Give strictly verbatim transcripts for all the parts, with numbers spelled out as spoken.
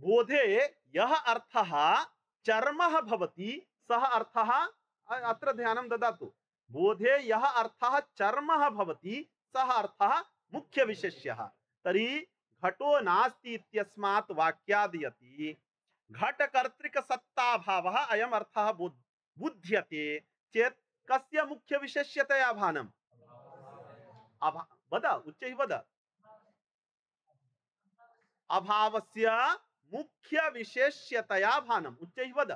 बोधे यः अर्थः चर्मः भवति सः अर्थः, अत्र ध्यानं ददातु, बोधे यः अर्थः चर्मः भवति सः अर्थः मुख्यविशेष्यः। तर्हि घटो नास्ति इत्यस्मात् वाक्याद् यदि घटकर्तृकसत्ताभावः अयम् अर्थः बुध्यते चेत् कस्य मुख्यविशेष्यतया भानम्? अभा वद उच्चैः वद। अभावस्य मुख्यविशेष्यतया भानम्, उच्चैः वद।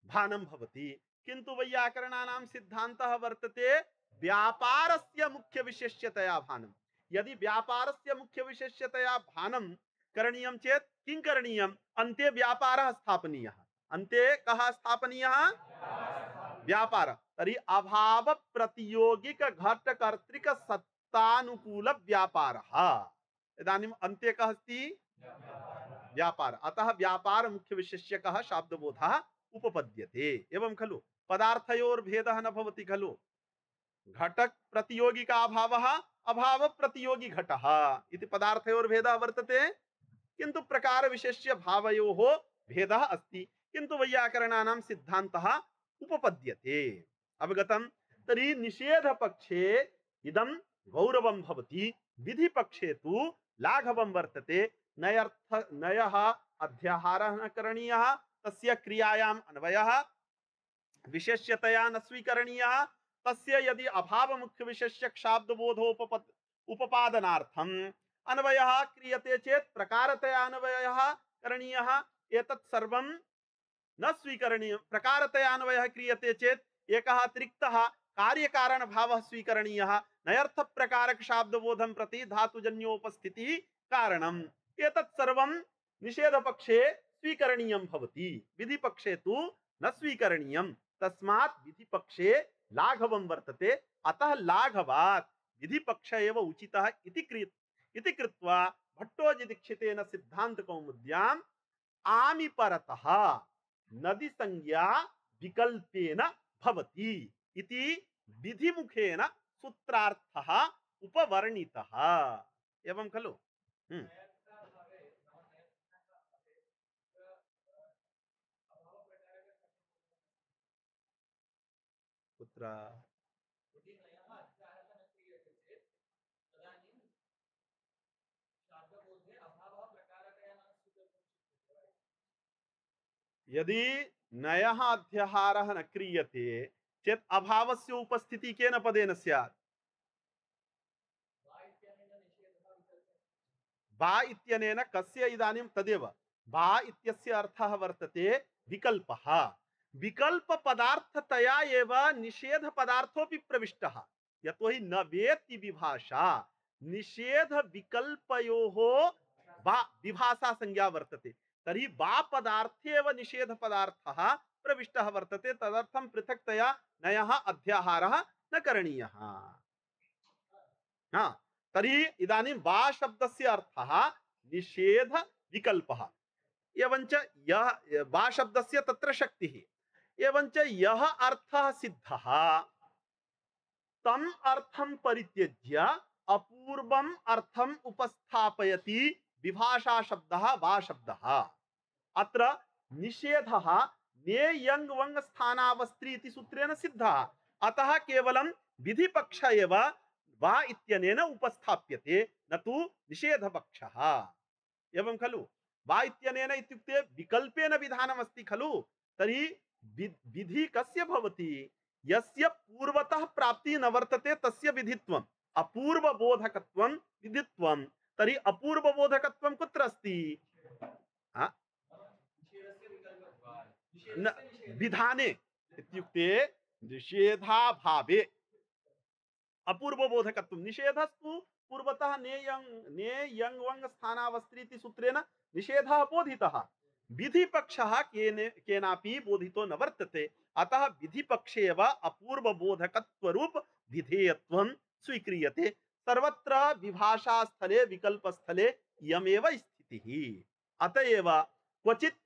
भानं भवति, किन्तु वैयाकरणानां सिद्धान्तः वर्तते व्यापारस्य मुख्यविशेष्यतया भानं। यदि व्यापारस्य मुख्यविशेष्यतया भानं करणीयं चेत् किं करणीयम्? अन्ते व्यापारः स्थापनीयः। अन्ते कः स्थापनीयः? व्यापार। तर्हि अभाव प्रतियोगिक घटकर्तृक सत्तानुकूल व्यापारः। इदानीम् अन्ते कः अस्ति? व्यापार। अतः व्यापार मुख्यविशेष्यकः शाब्दबोधः उपपद्यते। एवं खलु? पदार्थयोर्भेदः न भवति खलु? घटक प्रतियोगिका अभावः अभाव प्रतियोगी घटः इति पदार्थयोर्भेदः वर्तते, किन्तु प्रकार विशेष्य भावयोः भेदः अस्ति, किन्तु वैयाकरणानां सिद्धान्तः उपपद्यते। अवगतं? तर्हि निषेध पक्षे इदं गौरवं भवति, विधि पक्षे तु लाघवं वर्तते। नयर्थ नयः अध्याहारः न करणीयः, तस्य क्रियायाम् अन्वयः विशेष्यतया न स्वीकरणीयः। तस्य यदि अभाव मुख्य विशेष्यक शाब्दबोधोपपद उपादनार्थम अन्वयः क्रियते चेत् प्रकारतया अन्वयः करणीयः। एतत् सर्वं न स्वीकरणीयं। प्रकारतया अन्वयः क्रियते चेत् एकः अतिरिक्तः कार्यकारण भावः स्वीकरणीयः। नयर्थ प्रकारक शाब्दबोधं प्रति धातुजन्योपस्थितिः कारणम्। एतत् सर्वं निषेध पक्षे स्वीकरणीयं भवति, विधि पक्षे तु न स्वीकरणीयं। तस्मात् विधि पक्षे लाघवं वर्तते। अतः लाघवात् विधि पक्ष एव उचितः इति कृत इति कृत्वा भट्टोजीदीक्षितेन सिद्धांत कौमुद्याम् आमि परतः नदि संज्ञा विकल्पेन भवति इति विधिमुखेन सूत्रार्थः उपवर्णितः। एवं खलु? हम्म। कुत्र? यदि नयः अध्याहारः न क्रियते चेत् अभावस्य उपस्थितिः केन पदेन स्यात्? बा इत्यनेन कस्य? इदानीं तदेव बा इत्यस्य अर्थः वर्तते विकल्पः। विकल्प पदार्थतया एव निषेध पदार्थोऽपि प्रविष्टः। यतोहि न वेत्ति विभाषा, निषेध विकल्पयोः बा विभाषा संज्ञा वर्तते। तर्हि बा पदार्थे एव निषेध पदार्थः प्रविष्टः वर्तते। तदर्थं पृथक्तया नयः अध्याहारः न करणीयः। हाँ, तर्हि इदानीं बा शब्दस्य अर्थः निषेध विकल्पः। एवञ्च यः बा शब्दस्य तत्र शक्तिः। एवञ्च यः अर्थः सिद्धः तम् अर्थं परित्यज्य अपूर्वम् अर्थम् उपस्थापयति विभाषा शब्दः वा शब्दः। अत्र निषेधः ने यङ् वङ् स्थानावस्त्री इति सूत्रेण सिद्धः। अतः केवलं विधिपक्ष एव वा इत्यनेन उपस्थाप्यते, न तु निषेधपक्षः। एवं खलु? वा इत्यनेन इत्युक्ते विकल्पेन विधानमस्ति खलु? तर्हि विधि कस्य भवति? यस्य पूर्वतः प्राप्तिः न वर्तते तस्य विधित्वम्। अपूर्वबोधकत्वं विधित्वं। तर्हि अपूर्वबोधकत्वं कुत्र अस्ति? न विधाने इत्युक्ते निषेधाभावे अपूर्वबोधकत्वं। निषेधस्तु पूर्वतः ने यङ् ने यङ् वङ् स्थानावस्त्री इति सूत्रेण निषेधः बोधितः। विधिपक्षः केने केनापि बोधितो न वर्तते। अतः विधिपक्षे एव अपूर्वबोधकत्वरूप विधेयत्वं स्वीक्रियते। सर्वत्र विभाषा स्थले विकल्प स्थले इयमेव स्थितिः। अतएव क्वचित्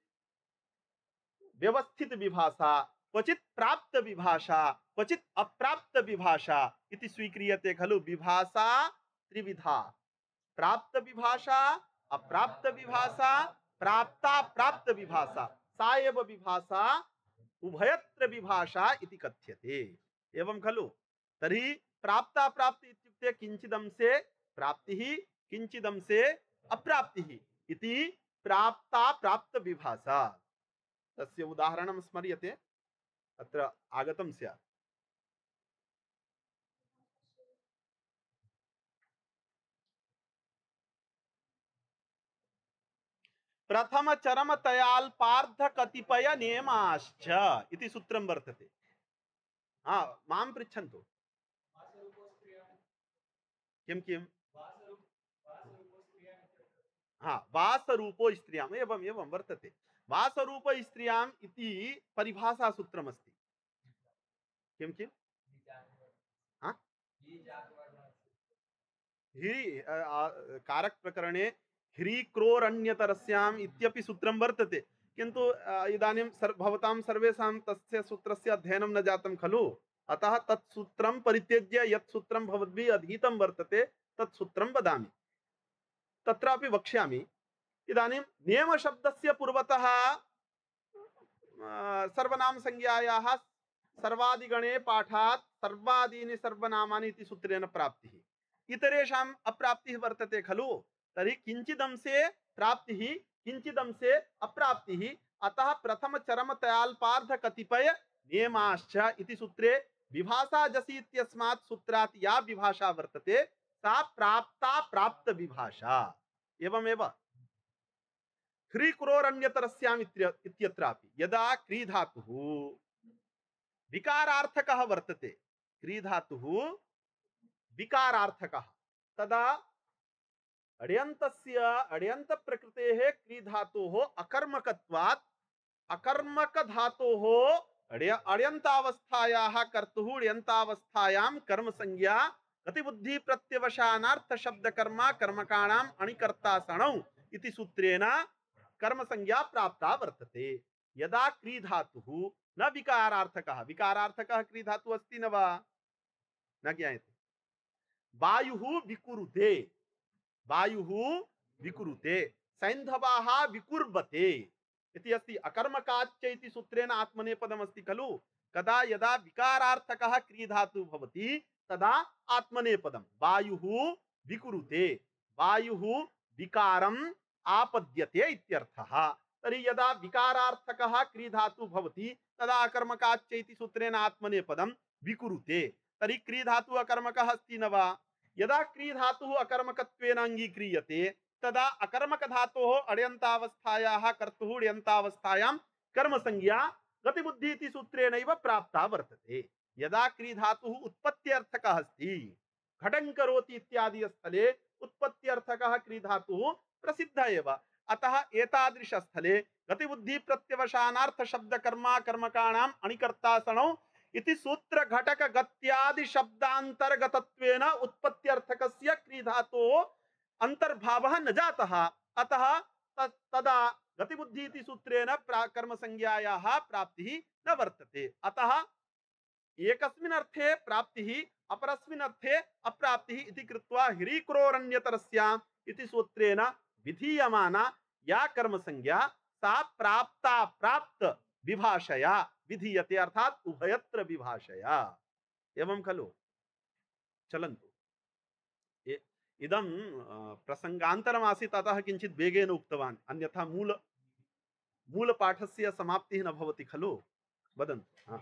व्यवस्थित विभाषा, क्वचित् प्राप्त विभाषा, क्वचित् अप्राप्त विभाषा इति स्वीक्रियते खलु? विभाषा त्रिविधा। प्राप्त विभाषा, अप्राप्त विभाषा, प्राप्ता प्राप्त विभाषा, सा एव विभाषा उभयत्र विभाषा इति कथ्यते। एवं खलु? तर्हि प्राप्ता प्राप्ति इत्युक्ते किंचिदंशे प्राप्तिः, किंचिदंशे अप्राप्तिः इति प्राप्ता प्राप्त विभाषा। तस्य उदाहरणं स्मर्यते, अत्र आगतं स्यात्। प्रथम चरम तयाल्पार्ध कतिपय नियमाश्च इति सूत्रं वर्तते। हा, मां पृच्छन्तु। किं किं? हा, वासरूपो स्त्रियाम्, एवम् एवं वर्तते। वासरूप स्त्रियाम् इति परिभाषा सूत्रमस्ति। किं किं? हा? हि कारक प्रकरणे ह्रीक्रोरण्यतरस्याम् इत्यपि सूत्रं वर्तते, किन्तु इदानीं सर् भवतां सर्वेषां तस्य सूत्रस्य अध्ययनं न जातं खलु, अतः तत् सूत्रं परित्यज्य यत् सूत्रं भवद्भिः अधीतं वर्तते तत् सूत्रं वदामि। तत्रापि वक्ष्यामि। इदानीं नियमशब्दस्य पूर्वतः सर्वनाम संज्ञायाः सर्वादिगणे पाठात् सर्वादीनि सर्वनामानि इति सूत्रेण प्राप्तिः। इतरेषाम् अप्राप्तिः वर्तते खलु। तर्हि किंचिदंशे प्राप्तिः, किंचिदंशे अप्राप्तिः। अतः प्रथम चरम तयाल्पार्ध कतिपय नियमाश्च इति सूत्रे विभाषा जसि इत्यस्मात् सूत्रात् या विभाषा वर्तते सा प्राप्ता प्राप्त विभाषा। एवमेव ह्रीक्रोरण्यतरस्याम् इत्यत्रापि यदा क्री धातुः विकारार्थकः वर्तते, क्री धातुः विकारार्थकः, तदा अड्यन्तस्य अड्यन्त प्रकृतेः क्री धातोः अकर्मकत्वात् अकर्मक धातोः अड्यन्तावस्थायाः कर्तुः अड्यन्तावस्थायां कर्म संज्ञा गतिबुद्धि प्रत्यवसानार्थ शब्द कर्मा कर्मकाणाम् अणिकर्ता सणौ इति सूत्रेण कर्म संज्ञा प्राप्ता वर्तते। यदा क्री धातुः न विकारार्थकः, विकारार्थकः क्री धातुः अस्ति न वा? न ज्ञायते। वायुः विकुरुते, वायुः विकुरुते, सैन्धवाः विकुर्वते इति अस्ति। अकर्मकाच्च इति सूत्रेण आत्मनेपदम् अस्ति खलु। कदा यदा विकारार्थकः क्री धातुः भवति तदा आत्मनेपदम्। वायुः विकुरुते, वायुः विकारम् आपद्यते इत्यर्थः। तर्हि यदा विकारार्थकः क्री धातुः भवति तदा अकर्मकाच्च इति सूत्रेण आत्मनेपदम् विकुरुते। तर्हि क्री धातुः अकर्मकः अस्ति न वा? यदा क्री धातुः अकर्मकत्वेन अंगीक्रियते तदा अकर्मक धातोः अड्यन्तावस्थायाः कर्तुः अड्यन्तावस्थायां कर्म संज्ञा गतिबुद्धि इति सूत्रेणैव प्राप्ता वर्तते। यदा क्री धातुः उत्पत्त्यर्थकः अस्ति, घटं करोति इत्यादि स्थले उत्पत्त्यर्थकः क्री धातुः प्रसिद्धः एव। अतः एतादृश स्थले गतिबुद्धि प्रत्यवसानार्थ शब्द कर्मा कर्मकाणाम् अणिकर्ता सणौ इति सूत्र घटक गत्यादि शब्दांतर्गतत्वेन उत्पत्त्यर्थकस्य क्री धातोः अंतर्भावः न जातः। अतः तदा गतिबुद्धि इति सूत्रेण कर्म संज्ञायाः प्राप्तिः न वर्तते। अतः एकस्मिन् अर्थे प्राप्तिः अपरस्मिन् अर्थे अप्राप्तिः इति कृत्वा ह्रीक्रोरण्यतरस्याम् इति सूत्रेण विधीयमाना या कर्म संज्ञा सा प्राप्ता प्राप्त विभाषया विधीयते, अर्थात उभयत्र विभाषया। एवं खलु? चलन्तु, इदं प्रसंगान्तरमासीत् अतः किञ्चित् वेगेन उक्तवान्, अन्यथा मूल मूलपाठस्य समाप्तिः न भवति खलु। वदन्तु।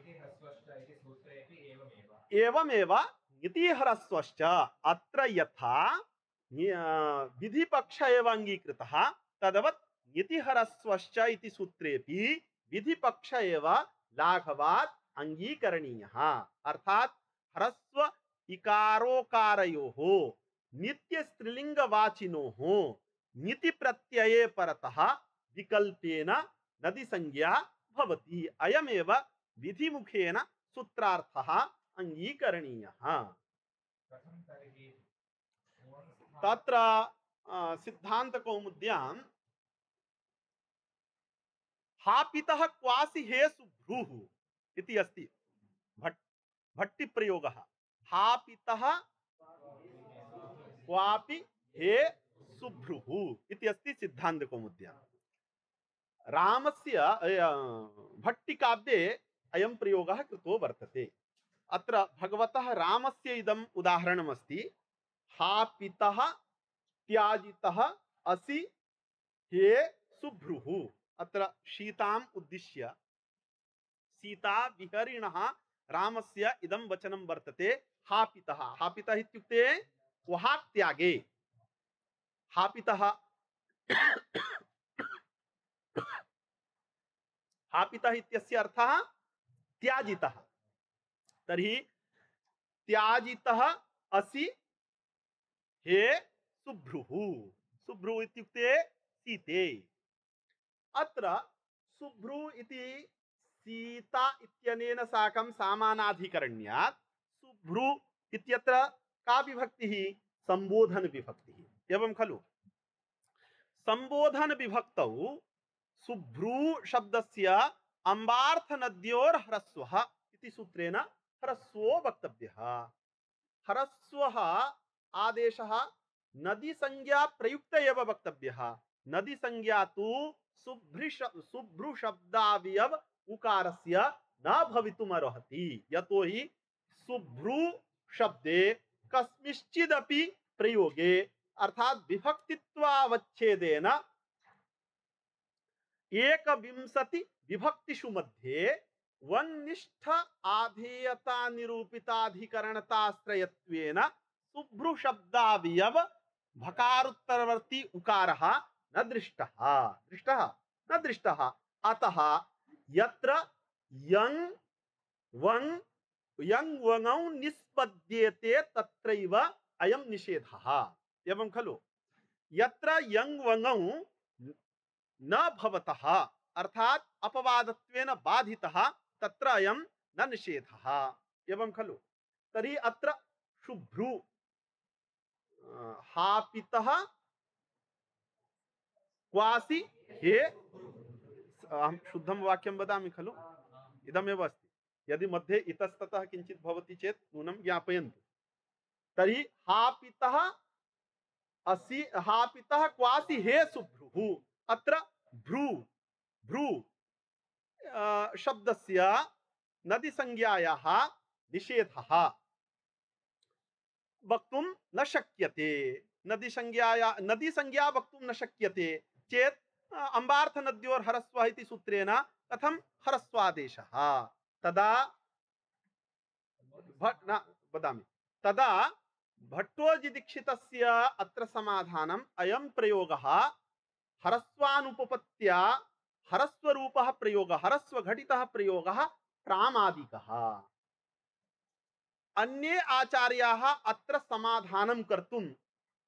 एवमेव नीतिहरस्वश्च अत्र यथा विधिपक्ष एव अंगीकृतः तदवत् नीतिहरस्वश्च इति सूत्रेपि विधिपक्ष एव लाघवात् अंगीकरणीयः। अर्थात ह्रस्व इकारोकारयोः नित्य स्त्रीलिंगवाचिनोः नीति प्रत्यये परतः विकल्पेन नदि संज्ञा भवति। अयमेव विधिमुखेन सूत्रार्थः अंगीकरणीयः। तत्र सिद्धान्तकौमुद्यां हापितः क्वासि हेसु भ्रूः इति अस्ति भट् भट्टि प्रयोगः। हापितः क्वापि हे सुभ्रुः इति अस्ति सिद्धान्तकौमुद्यां। रामस्य भट्टिकाव्ये अयं प्रयोगः कृतो वर्तते। अत्र भगवतः रामस्य इदम् उदाहरणमस्ति। हा पितः त्याजितः असि हे सुभ्रुः। अत्र सीताम् उद्दिश्य सीता विहरिणः रामस्य इदं वचनं वर्तते। हा पितः, हा पितः इत्युक्ते वहात्यागे। हा पितः हा पितः इत्यस्य अर्थः त्याजितः। तर्हि त्याजितः असि हे सुभ्रुः। सुभ्रुः इत्युक्ते सीते। अत्र सुभ्रु इति सीता इत्यनेन साकं सामानाधिकरण्यात् सुभ्रु इत्यत्र का विभक्तिः? संबोधन विभक्तिः। एवं खलु? संबोधन विभक्तौ सुभ्रू शब्दस्य अम्बार्थ नद्योर ह्रस्वः इति सूत्रेण ह्रस्वो वक्तव्यः। ह्रस्वः आदेशः नदी संज्ञा प्रयुक्त एव वक्तव्यः। नदी संज्ञा तु सुभ्रु शब्दावयव उकारस्य न भवितुमर्हति। यतो हि सुभ्रू शब्दे कस्मिंश्चिदपि प्रयोगे अर्थात विभक्तित्वावच्छेदेन एकविंशति विभक्तिषु मध्ये वंनिष्ठ आधेयता निरूपिताधिकरणताश्रयत्वेन सुभ्रु शब्दावयव भकारोत्तरवर्ती उकारः न दृष्टः दृष्टः न दृष्टः। अतः यत्र यं वं यं वङौ निष्पद्येते तत्रैव अयं निषेधः। एवं खलु? यत्र यं वङौ न भवतः अर्थात अपवादत्वेन बाधितः तत्र अयं न निषेधः। एवं खलु? तर्हि अत्र शुभ्रु हा पितः क्वासि हे, अहं शुद्धं वाक्यं वदामि खलु? इदमेव अस्ति। यदि मध्ये इतस्ततः किञ्चित् भवति चेत् नूनं ज्ञापयन्तु। तर्हि हा पितः असि हा पितः क्वासि हे सुभ्रुः। अत्र भ्रू भ्रू शब्दस्य नदी संज्ञायाः निषेधः वक्तुं न शक्यते। नदी संज्ञाया नदी संज्ञा वक्तुं न शक्यते चेत् अम्बार्थ नद्योर् ह्रस्वः इति सूत्रेण कथं ह्रस्वादेशः? तदा भट् न वदामि तदा भट्टोजिदीक्षितस्य अत्र समाधानम् अयं प्रयोगः ह्रस्वानुपपत्त्या ह्रस्वरूपः प्रयोगः ह्रस्वघटितः प्रयोगः प्रामादिकः। अन्ये आचार्याः अत्र समाधानं कर्तुं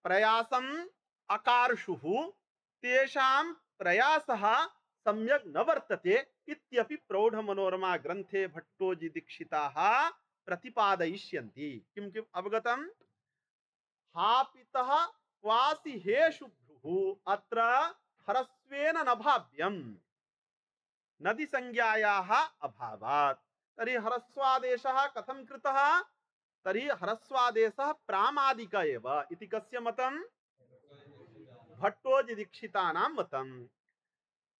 प्रयासम् अकार्षुः। तेषां प्रयासः सम्यक् न वर्तते इत्यपि प्रौढमनोरमा ग्रन्थे भट्टोजिदीक्षिताः प्रतिपादयिष्यन्ति। किं किम् अवगतं? हा पितः क्वासि हे शुभ्रुः अत्र ह्रस्वेन न भाव्यम् नदी संज्ञायाः अभावात्। तर्हि ह्रस्वादेशः कथं कृतः? तर्हि ह्रस्वादेशः प्रामादिक एव इति कस्य मतं? भट्टोजिदीक्षितानां मतम्।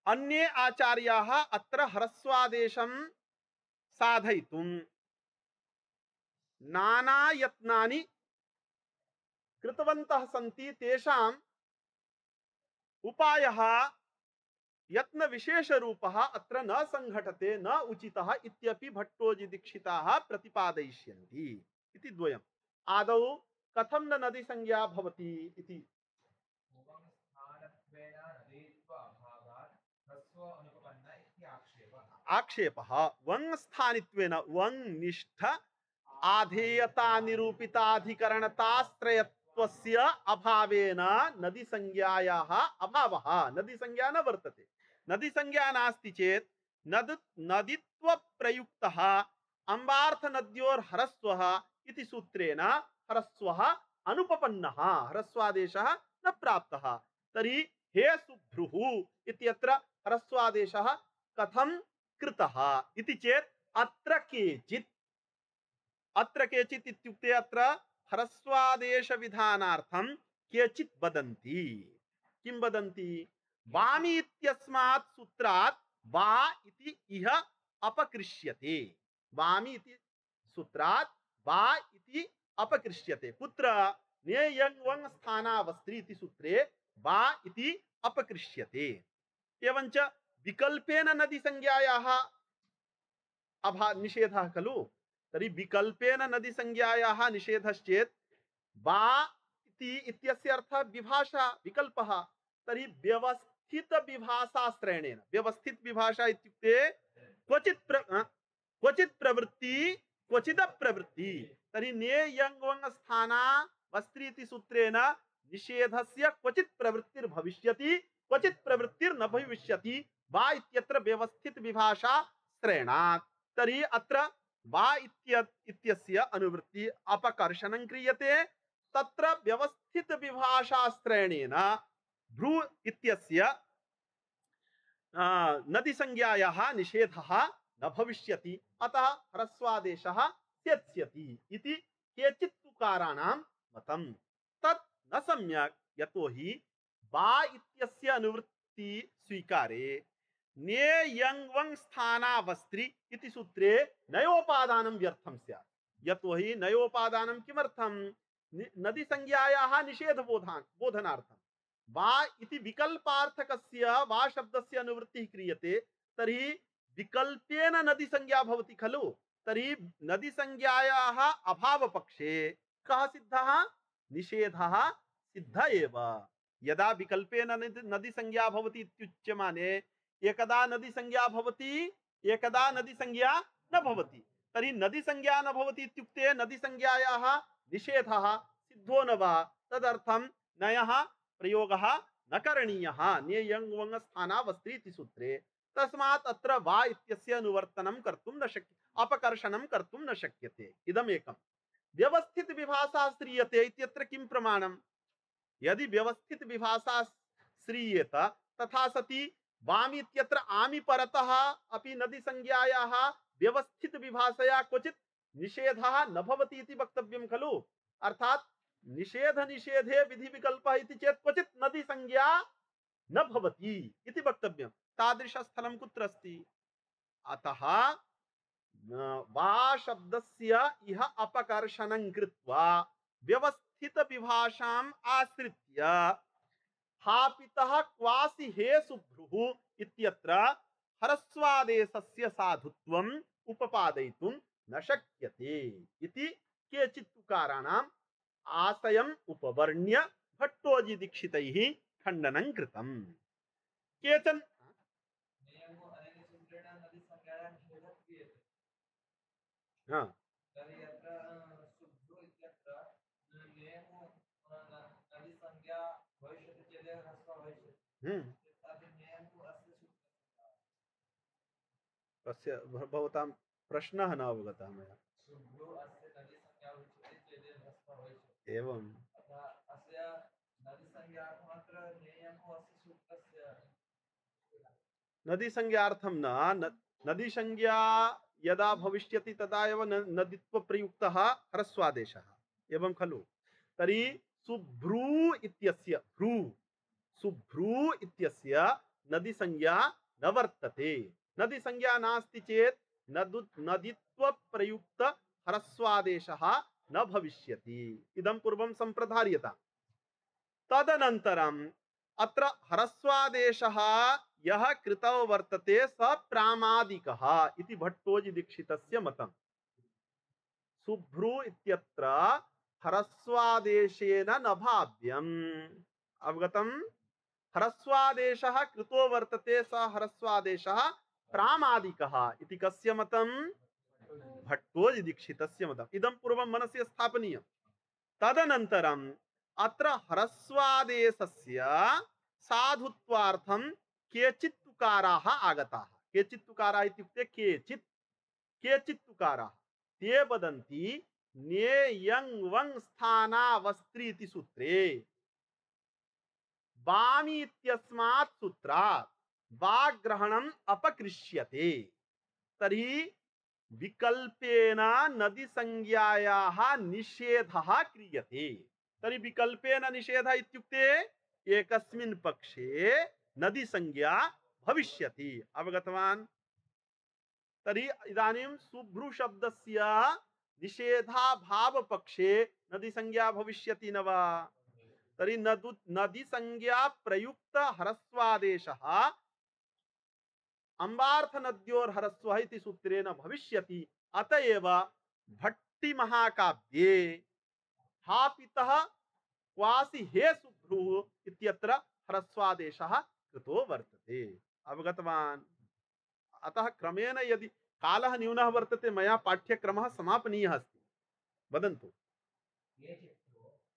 अन्ये आचार्याः अत्र ह्रस्वादेशं साधयितुं नाना यत्नानि कृतवन्तः सन्ति। तेषाम् उपायः यत्न विशेषरूपः अत्र न संघटते न उचितः इत्यपि भट्टोजिदीक्षिताः प्रतिपादयिष्यन्ति इति द्वयम्। आदौ कथं न नदी संज्ञा भवति इति आक्षेपः वंग स्थानित्वेन वंग निष्ठ आधेयता निरूपिताधिकरणताश्रयत्वस्य अभावेन नदी संज्ञायाः अभावः। नदी संज्ञा न वर्तते। नदी संज्ञा नास्ति चेत् नद नदीत्व प्रयुक्तः अम्बार्थ नद्योर् ह्रस्वः इति सूत्रेण ह्रस्वः अनुपपन्नः ह्रस्वादेशः न प्राप्तः। तर्हि हे सुभ्रुः इत्यत्र ह्रस्वादेशः कथं कृतः इति चेत् अत्र केचित् अत्र केचित् इत्युक्ते अत्र ह्रस्वादेश विधानार्थं केचित् वदन्ति। किं वदन्ति? वामी इत्यस्मात् सूत्रात् वा इति इह अपकृष्यते। वामी इति सूत्रात् वा इति अपकृष्यते। कुत्र? ने यंग वंग स्थानावस्त्री इति सूत्रे वा इति अपकृष्यते। एवंच विकल्पेन नदी संज्ञायाः अभा निषेधः खलु। तर्हि विकल्पेन नदी संज्ञायाः निषेधश्चेत् वा इति इत्यस्य अर्थः विभाषा विकल्पः। तर्हि व्यवस्थित विभाषाश्रयणेन, व्यवस्थित विभाषा इत्युक्ते क्वचित् प्र क्वचित् प्रवृत्ति क्वचिद प्रवृत्ति। तर्हि ने यंग वंग स्थाना वस्त्री इति सूत्रेण निषेधस्य क्वचित् प्रवृत्तिर्भविष्यति, क्वचित् प्रवृत्तिर्न भविष्यति। वा इत्यत्र व्यवस्थित विभाषा श्रेणात्। तर्हि अत्र वा इत्यस्य अनुवृत्ति अपकर्षणं क्रियते। तत्र व्यवस्थित विभाषा श्रेणेन भ्रू इत्यस्य नदी संज्ञायाः निषेधः न भविष्यति। अतः ह्रस्वादेशः त्यज्यति इति केचित् तुकाराणां मतम्। तत् न सम्यक्। यतोहि वा इत्यस्य अनुवृत्ति स्वीकारे ने यंग वंग स्थानावस्त्री इति सूत्रे नयोपादानं व्यर्थं स्यात्। यतोहि नयोपादानं किमर्थं? नदी संज्ञायाः निषेध बोधान बोधनार्थं। वा इति विकल्पार्थकस्य वा शब्दस्य अनुवृत्तिः क्रियते। तर्हि विकल्पेन नदी संज्ञा भवति खलु। तर्हि नदी संज्ञायाः अभावपक्षे कः सिद्धः? निषेधः सिद्ध एव। यदा विकल्पेन नदी संज्ञा भवति इत्युच्यमाने एकदा नदी संज्ञा भवति, एकदा नदी संज्ञा न भवति। तर्हि नदी संज्ञा न भवति इत्युक्ते नदी संज्ञायाः निषेधः सिद्धो न वा? तदर्थं नयः प्रयोगः न करणीयः ने यंग वंग स्थानावस्त्री इति सूत्रे। तस्मात् अत्र वा इत्यस्य अनुवर्तनं कर्तुं न शक्य, अपकर्षणं कर्तुं न शक्यते। इदम् एकं। व्यवस्थित विभाषा श्रीयते इत्यत्र किं प्रमाणं? यदि व्यवस्थित विभाषा श्रीयेत तथा सति वामी इत्यत्र आमि परतः अपि नदी संज्ञायाः व्यवस्थित विभाषया क्वचित् निषेधः न भवति इति वक्तव्यं खलु। अर्थात् निषेध निषेधे विधि विकल्पः इति चेत् क्वचित् नदी संज्ञा न भवति इति वक्तव्यं। तादृशस्थलं कुत्र अस्ति? अतः वा शब्दस्य इह अपकर्षणं कृत्वा व्यवस्थित विभाषाम् आश्रित्य स्थापितः क्वासि हे सुभ्रुः इत्यत्र ह्रस्वादेशस्य साधुत्वम् उपपादयितुं न शक्यते इति केचित् तुकाराणाम् आशयम् उपवर्ण्य भट्टोजी दीक्षितैः खण्डनं कृतम्। केचन हाँ हम्म अस्य भवतां प्रश्नः न अवगतः मया। एवं नदी संज्ञार्थं न नदी संज्ञा यदा भविष्यति तदा एव नदीत्व प्रयुक्तः ह्रस्वादेशः एवं खलु। तर्हि सुभ्रू इत्यस्य भ्रू सुभ्रू इत्यस्य नदी संज्ञा न वर्तते। नदी संज्ञा नास्ति चेत् नदु नदीत्व प्रयुक्त ह्रस्वादेशः न भविष्यति। इदं पूर्वं सम्प्रधार्यता। तदनन्तरम् अत्र ह्रस्वादेशः यः कृतौ वर्तते स प्रामादिकः इति भट्टोजी दीक्षितस्य मतम्। सुभ्रू इत्यत्र ह्रस्वादेशेन न भाव्यम्। अवगतम्? ह्रस्वादेशः कृतो वर्तते स ह्रस्वादेशः प्रामादिकः इति कस्य मतम्? भट्टोजी दीक्षितस्य मतम्। इदं पूर्वं मनसि स्थापनीयम्। तदनन्तरम् अत्र ह्रस्वादेशस्य साधुत्वार्थं केचित् तुकाराः आगताः। केचित् तुकाराः इत्युक्ते केचित् केचित् तुकाराः ते वदन्ति ने यंग वंग स्थानावस्त्री इति सूत्रे वामी इत्यस्मात् सूत्रात् वाग्रहणम् अपकृष्यते। तर्हि विकल्पेन नदी संज्ञायाः निषेधः क्रियते। तर्हि विकल्पेन निषेधः इत्युक्ते एकस्मिन् पक्षे नदी संज्ञा भविष्यति। अवगतवान्? तर्हि इदानीं शुभ्रु शब्दस्य निषेधाभाव पक्षे नदी संज्ञा भविष्यति न वा? तर्हि नदु नदी संज्ञा प्रयुक्त ह्रस्वादेशः अम्बार्थ नद्योर ह्रस्वः इति सूत्रेण भविष्यति। अतएव भट्टी महाकाव्ये स्थापितः क्वासि हे शुभ्रुः इत्यत्र ह्रस्वादेशः कृतो वर्तते। अवगतवान्? अतः क्रमेण यदि कालः न्यूनः वर्तते मया पाठ्यक्रमः समापनीयः अस्ति। वदन्तु।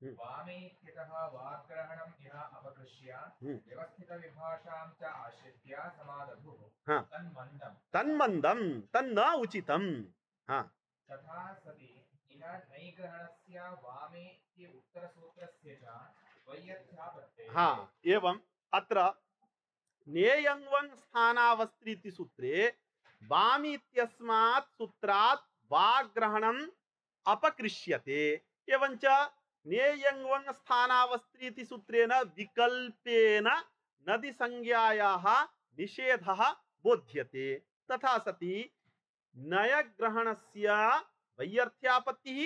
वामे इत्यतः वाग्ग्रहणं यः अपकृष्य व्यवस्थितविभाषां च आश्रित्य समादधुः तन्मन्दं तन्मन्दं तन्न उचितम्। हाँ, तथा सति इह नैग्रहणस्य वामे इति उत्तरसूत्रस्य च वैयर्थ्यापत्तेः। हाँ, एवं अत्र नेयंवं स्थानावस्त्रीति सूत्रे वामी इत्यस्मात् सूत्रात् वाग्ग्रहणम् अपकृष्यते। एवञ्च नेयंवं स्थानावस्त्रीति सूत्रेण विकल्पेन नदी संज्ञायाः निषेधः बोध्यते। तथा सति नयग्रहणस्य वैयर्थ्यापत्तिः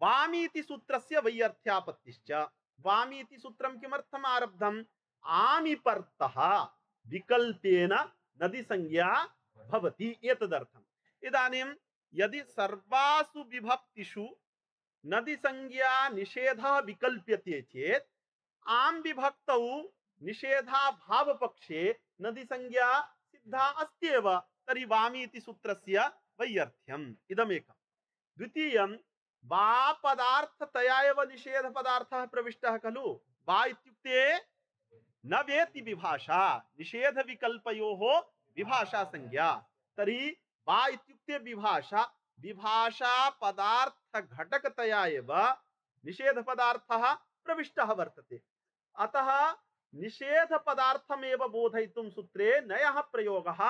वामी इति सूत्रस्य वैयर्थ्यापत्तिश्च। वामी इति सूत्रं किमर्थम् आरब्धम्? आमिपर्तः विकल्पेन नदी संज्ञा भवति एतदर्थम्। इदानीं यदि सर्वासु विभक्तिषु नदी संज्ञा निषेधः विकल्प्यते चेत् आम विभक्तौ निषेधाभाव पक्षे नदी संज्ञा सिद्धा अस्ति एव। तर्हि वामी इति सूत्रस्य वैयर्थ्यम् इदमेकम्। द्वितीयं वा पदार्थतया एव निषेध पदार्थः प्रविष्टः खलु। वा इत्युक्ते न वेति विभाषा, निषेध विकल्पयोः विभाषा संज्ञा। तर्हि वा इत्युक्ते विभाषा, विभाषा पदार्थ घटकतया एव निषेध पदार्थः प्रविष्टः वर्तते। अतः निषेध पदार्थमेव बोधयितुं सूत्रे नयः प्रयोगः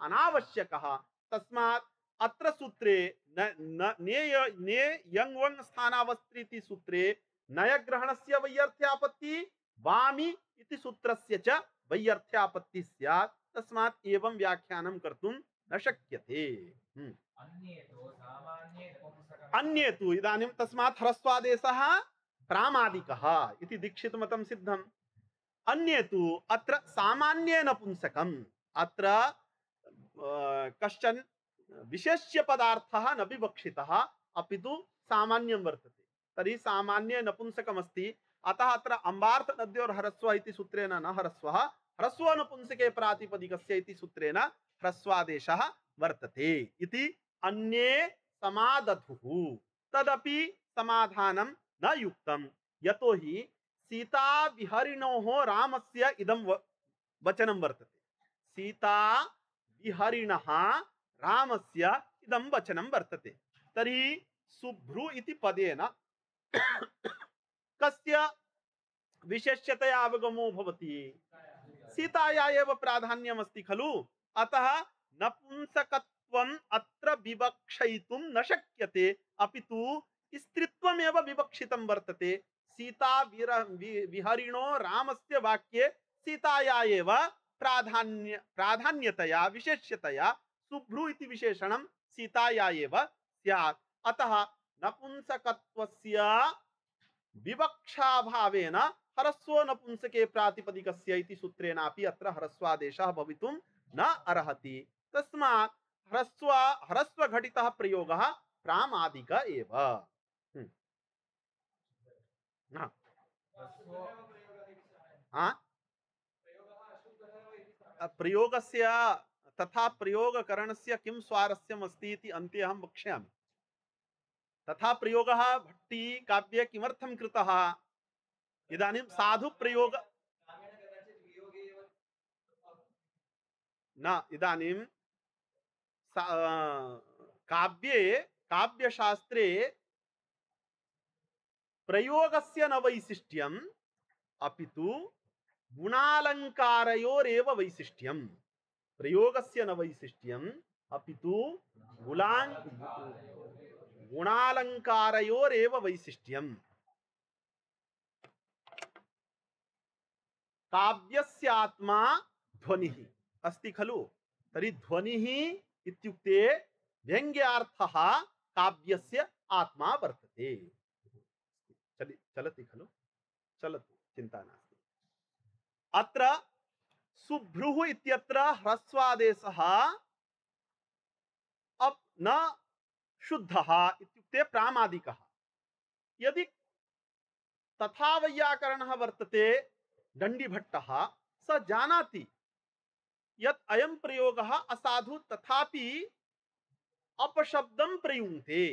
अनावश्यकः। तस्मात् अत्र सूत्रे न न नेय ने यंवं स्थानावस्त्रीति सूत्रे नयग्रहणस्य वैयर्थ्यापत्ति वामी इति सूत्रस्य च वैयर्थ्यापत्ति स्यात्। तस्मात् एवं व्याख्यानं कर्तुं न शक्यते। अन्ये तु इदानीं तस्मात् ह्रस्वादेशः प्रामादिकः इति दीक्षित मतं सिद्धम्। अन्ये तु अत्र सामान्ये नपुंसकम्, अत्र कश्चन विशेष्य पदार्थः न विवक्षितः अपितु सामान्यं वर्तते। तर्हि सामान्ये नपुंसकमस्ति। अतः अत्र अम्बार्थ नद्योर् ह्रस्व इति सूत्रेण न ह्रस्वः, ह्रस्व नपुंसके प्रातिपदिकस्य इति सूत्रेण ह्रस्वादेशः वर्तते इति अन्ये समादधुः। तदपि समाधानं न युक्तं, यतोहि सीता विहरिणोः रामस्य इदं वचनं वर्तते। सीता विहरिणः रामस्य इदं वचनं वर्तते। तर्हि शुभ्रु इति पदेन कस्य विशेष्यतया अवगमो भवति? सीताया एव प्राधान्यमस्ति खलु। अतः नपुंसकत्वम् अत्र विवक्षयितुं न शक्यते, अपितु स्त्रीत्वमेव विवक्षितं वर्तते। सीता विहरिणो रामस्य वाक्ये सीताया एव प्राधान्य प्राधान्यतया विशेष्यतया शुभ्रु इति विशेषणं सीताया एव स्यात्। अतः नपुंसकत्वस्य विवक्षाभावेन ह्रस्व नपुंसके प्रातिपदिकस्य इति सूत्रेणापि अत्र ह्रस्वादेशः भवितुं न अर्हति। तस्मात् ह्रस्व ह्रस्व घटितः प्रयोगः प्रामादिक एव। हाँ, प्रयोगस्य तथा प्रयोगकरणस्य किं स्वारस्यम् अस्ति इति अन्ते अहं वक्ष्यामि। तथा प्रयोगः भट्टी काव्ये किमर्थं कृतः? इदानीं साधु प्रयोग न, इदानीं काव्ये काव्यशास्त्रे प्रयोगस्य न वैशिष्ट्यम् अपितु गुणालंकारयोरेव वैशिष्ट्यम्। प्रयोगस्य न वैशिष्ट्यम् अपितु गुणां गुणालंकारयोरेव वैशिष्ट्यम्। काव्यस्यात्मा ध्वनिः अस्ति खलु। तर्हि ध्वनिः इत्युक्ते व्यङ्ग्यार्थः काव्यस्य आत्मा वर्तते। चलि चलति खलु, चलतु, चिन्ता नास्ति। अत्र सुभ्रुः इत्यत्र ह्रस्वादेशः अप् न शुद्धः इत्युक्ते प्रामादिकः। यदि तथा वैयाकरणः वर्तते दण्डीभट्टः, स जानाति यत् अयं प्रयोगः असाधु, तथापि अपशब्दं प्रयुङ्क्ते।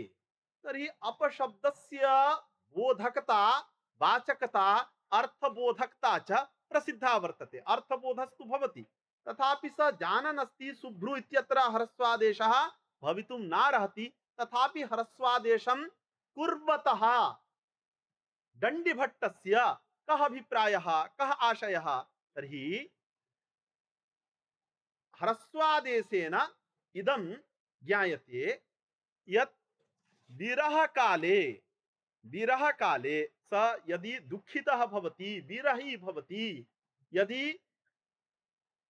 तर्हि अपशब्दस्य बोधकता, वाचकता, अर्थबोधकता च प्रसिद्धा वर्तते। अर्थबोधस्तु भवति, तथापि स जानन् अस्ति सुभ्रु इत्यत्र ह्रस्वादेशः भवितुं नार्हति, तथापि ह्रस्वादेशं कुर्वतः दण्डीभट्टस्य कः अभिप्रायः, कः आशयः? तर्हि ह्रस्वादेशेन इदं ज्ञायते यत् विरह काले विरह काले स यदि दुःखितः भवति, विरही भवति, यदि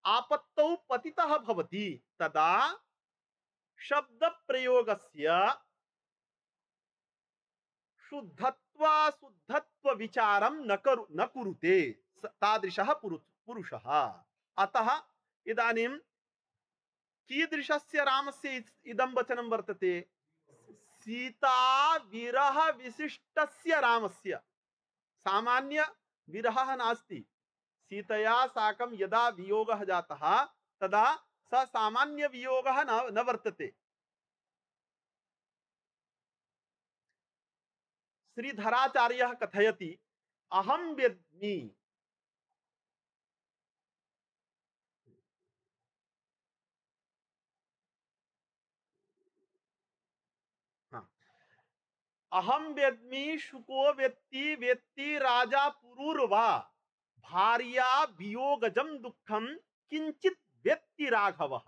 आपत्तौ पतितः भवति, तदा शब्दप्रयोगस्य शुद्धत्वाशुद्धत्व विचारं न करु न कुरुते तादृशः पुरुषः। अतः इदानीं कीदृशस्य रामस्य इदं वचनं वर्तते? सीता विरह विशिष्टस्य रामस्य। सामान्य विरहः नास्ति। सीतया साकं यदा वियोगः जातः तदा स सामान्य वियोगः न, न वर्तते। श्रीधराचार्यः कथयति, अहं वेद्मि अहं वेद्मि शुको वेत्ति वेत्ति राजा पुरुर्वा भार्या वियोगजं दुःखं किंचित वेत्ति राघवः।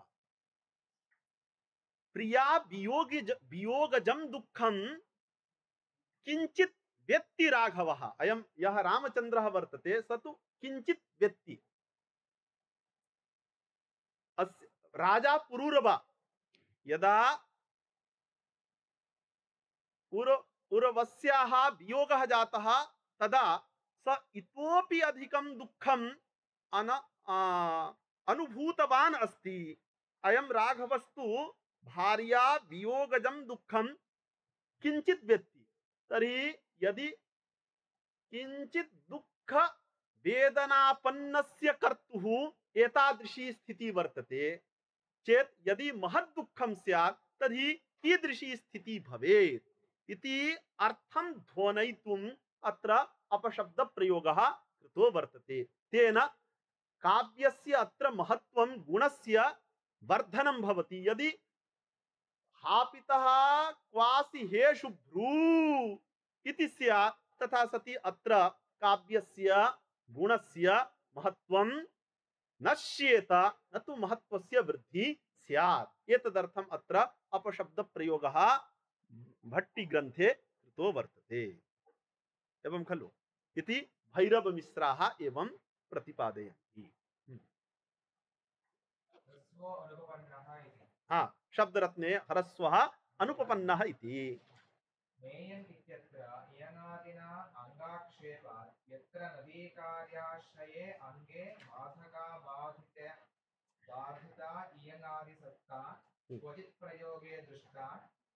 प्रिया वियोगज वियोगजं दुःखं किंचित वेत्ति राघवः। अयं यः रामचन्द्रः वर्तते स तु किंचित वेत्ति। अस्य राजा पुरुरवा यदा पुर पुरवस्याः वियोगः जातः तदा स इतोपि अधिकं दुःखम् अन अनुभूतवान् अस्ति। अयं राघवस्तु भार्या वियोगजं दुःखं किंचित वेत्ति। तर्हि यदि किंचित दुःख वेदनापन्नस्य कर्तुः एतादृशी स्थितिः वर्तते चेत् यदि महत् दुःखं स्यात् तर्हि कीदृशी स्थितिः भवेत् इति अर्थं ध्वनयितुम् अत्र अपशब्द प्रयोगः कृतो वर्तते। तेन काव्यस्य अत्र महत्त्वं गुणस्य वर्धनं भवति। यदि हापितः क्वासि हे शुभ्रू इति स्यात् तथा सति अत्र काव्यस्य गुणस्य महत्त्वं नश्येत, न तु महत्त्वस्य वृद्धि स्यात्। एतदर्थम् अत्र अपशब्द प्रयोगः भट्टिग्रन्थे कृतो वर्तते। एवं खलु इति भैरवमिश्राः एवं प्रतिपादयन्ति। हाँ, शब्दरत्ने ह्रस्वः अनुपपन्नः इति। मेयन् इत्यत्र इयङादिना अङ्गाक्षेपात् यत्र नदीकार्याश्रये अङ्गे बाधका बाधिते बाधिता इयङादिसत्ता क्वचित् प्रयोगे दृष्टा